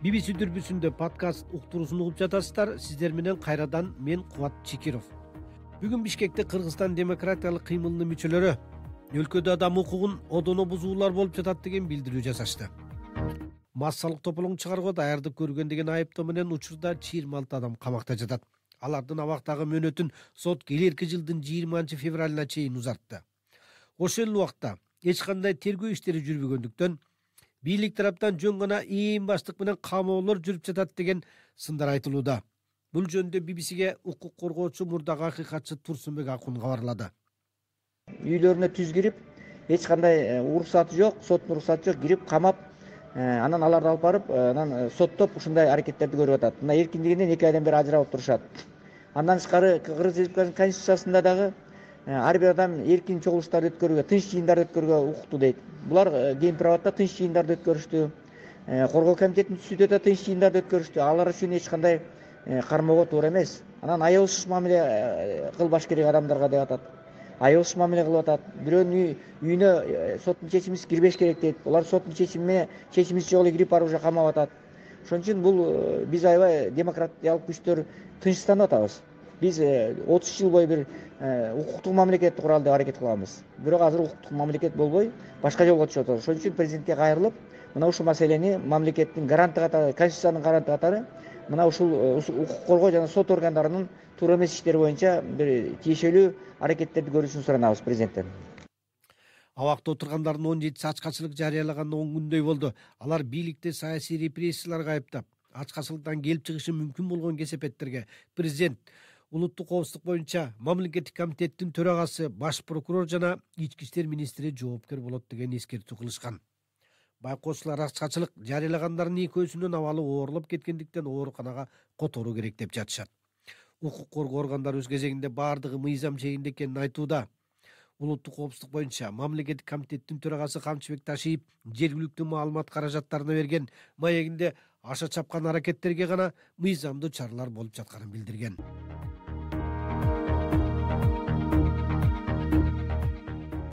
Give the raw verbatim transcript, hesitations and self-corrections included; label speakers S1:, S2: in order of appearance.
S1: би би си дүрбүсүндө подкаст уктуруусун угуп жатасыздар. Сиздер менен кайрадан мен Кубат Чекиров. Бүгүн Бишкекте Кыргызстан демократиялык кыймылынын мүчөлөрү өлкөдө адам укугун одоно бузуулар болуп жатат деген билдирүү жасашты. Массалык тополоң чыгарууга даярдык көргөн деген айыптоо менен учурда жыйырма алты адам камакта жатат. Алардын абактагы мөөнөтүн сот келерки жылдын жыйырманчы февралына чейин узартты. Ошол эле убакта эч кандай тергөө иштери жүрбөгөндүктөн бийлик тараптан жөн гана ээн баштык менен камоолор жүрүп жатат деген сындар айтылууда. Бул жөнүндө би би сиге укук коргоочу мурдагы акыйкатчы Турсунбек Акун кабарлады.
S2: Үйлөрүнө түз кирип, эч кандай уруксаты жок, соттун уруксаты жок, кирип камап, анан аларды алып барып, анан соттоп ушундай аракеттерди көрүп атат. Мына эркиндигинен эки айдан бери ажырап турушат. Андан тышкары Кыргыз Республикасынын конституциясында дагы ар бир адам эркин чогулуштарды өткөрүүгө, тынч жыйындарды өткөрүүгө укуктуу дейт. Булар кийин праватта тынч жыйындарды өткөрүштү. Коргоо комитетинин түзүтүдө да тынч жыйындарды өткөрүштү. Алар үчүн эч кандай кармоого туура эмес. Анан аябыз мамиле кылбаш керек адамдарга деп атат. Аябыз мамиле кылып атат. Бирөөнүн үйүнө соттун чечимисиз кирбеш керек дейт. Булар соттун чечими чечимиси жок эле кирип барып уже камап атат. Ошон үчүн бул биз аябай демократиялык күчтөр тынчсызданып атабыз. Биз отуз жыл бою бир укуктук мамлекетти куралы деп аракет кылганбыз. Бирок азыр укуктук мамлекет болбой, башка жолго түшүп атабыз. Ошон үчүн президентке кайрылып, мына ушул маселени мамлекеттин гаранты катары, конституциянын гаранты катары мына ушул укук коргоо жана сот органдарынын туура эмес иштери боюнча бир тиешелүү аракеттерди көрүүсүн суранабыз президенттен.
S1: Абакта отургандардын он жетиси ачкачылык жарыялаганына он күндөй болду. Алар бийликти саясий репрессияларга айыптап, ачкачылыктан келип чыгышы мүмкүн болгон кесепеттерге президент, улуттук коопсуздук боюнча мамлекеттик комитеттин төрагасы, баш прокурор жана ички иштер министри жоопкер болот деген эскертүү кылышкан. Байкоочулар ачкачылык жарыялагандардын экөөсүнүн абалы оорлоп кеткендиктен ооруканага которуу керек деп жатышат. Укук коргоо органдары өз кезегинде баардыгы мыйзам чегинде экенин айтууда. Улуттук коопсуздук боюнча мамлекеттик комитеттин төрагасы Камчыбек Ташиев жергиликтүү маалымат каражаттарына берген маегинде аша чапкан аракеттерге гана мыйзамдуу чаралар болуп жатканын билдирген.